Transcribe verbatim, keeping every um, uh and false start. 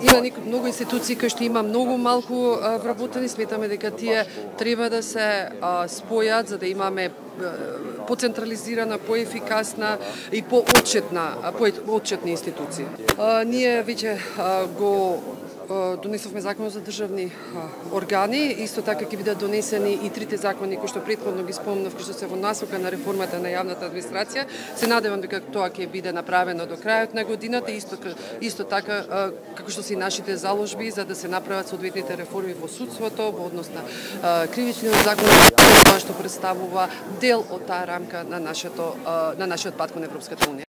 Има многу институции кои што има многу малку вработени, сметаме дека тие треба да се спојат за да имаме поцентрализирана, поефикасна и поотчетна, поотчетни институции. Ние веќе го донесовме закон за државни органи, исто така ќе бидат донесени и трите закони кои што претходно ги спомнав, кои што се во насока на реформата на јавната администрација. Се надевам дека тоа ќе биде направено до крајот на годината, исто исто така како што се и нашите заложби за да се направат соодветните реформи во судството, во однос на кривичниот закон, тоа што представува дел од таа рамка на нашето на нашиот пат кон Европската унија.